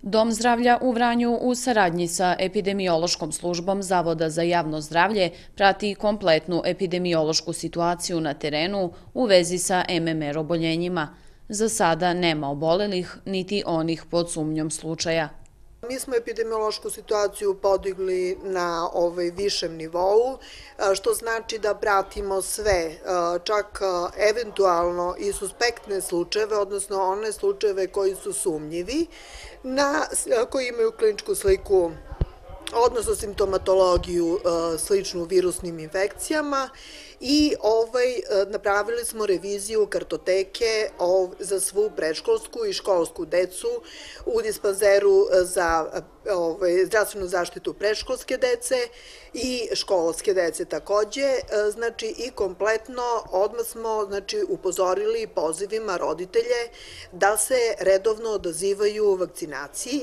Dom zdravlja u Vranju u saradnji sa epidemiološkom službom Zavoda za javno zdravlje prati kompletnu epidemiološku situaciju na terenu u vezi sa MMR oboljenjima. Za sada nema obolelih, niti onih pod sumnjom slučaja. Mi smo epidemiološku situaciju podigli na višem nivou, što znači da pratimo sve, čak eventualno i suspektne slučajeve, odnosno one slučajeve koji su sumnjivi, koji imaju kliničku sliku, odnosno simptomatologiju sličnu virusnim infekcijama i napravili smo reviziju kartoteke za svu predškolsku i školsku decu u dispanzeru za zdravstvenu zaštitu predškolske dece i školske dece takođe, znači i kompletno odmah smo upozorili pozivima roditelje da se redovno odazivaju vakcinaciji.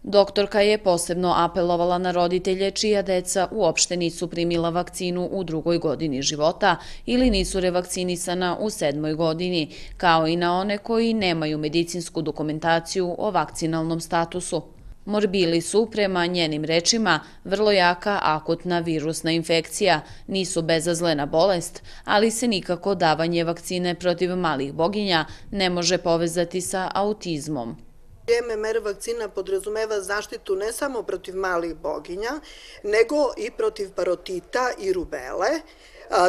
Doktorka je posebno apelovala na roditelje čija deca uopšte nisu primila vakcinu u 2. godini života ili nisu revakcinisana u 7. godini, kao i na one koji nemaju medicinsku dokumentaciju o vakcinalnom statusu. Morbili su, prema njenim rečima, vrlo jaka akutna virusna infekcija, nisu bezazlena bolest, ali se nikako davanje vakcine protiv malih boginja ne može povezati sa autizmom. MMR vakcina podrazumeva zaštitu ne samo protiv malih boginja, nego i protiv parotita i rubele.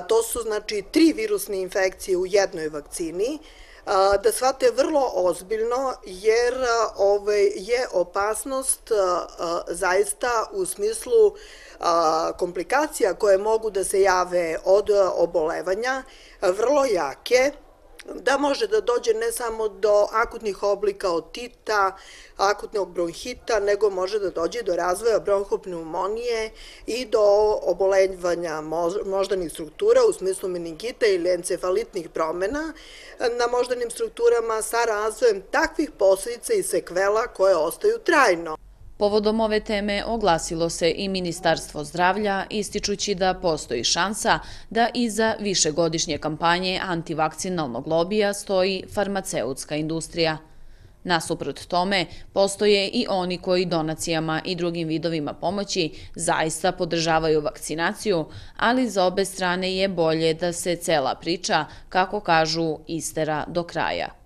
To su znači 3 virusne infekcije u jednoj vakcini, da shvate vrlo ozbiljno jer je opasnost zaista u smislu komplikacija koje mogu da se jave od obolevanja vrlo jake, da može da dođe ne samo do akutnih oblika otita, akutnog bronhita, nego može da dođe do razvoja bronhopneumonije i do obolevanja moždanih struktura u smislu meningita ili encefalitnih promena na moždanim strukturama sa razvojem takvih posledica i sekvela koje ostaju trajno. Povodom ove teme oglasilo se i Ministarstvo zdravlja, ističući da postoji šansa da iza višegodišnje kampanje antivakcinalnog lobija stoji farmaceutska industrija. Nasuprot tome, postoje i oni koji donacijama i drugim vidovima pomoći zaista podržavaju vakcinaciju, ali za obe strane je bolje da se cela priča, kako kažu, istera do kraja.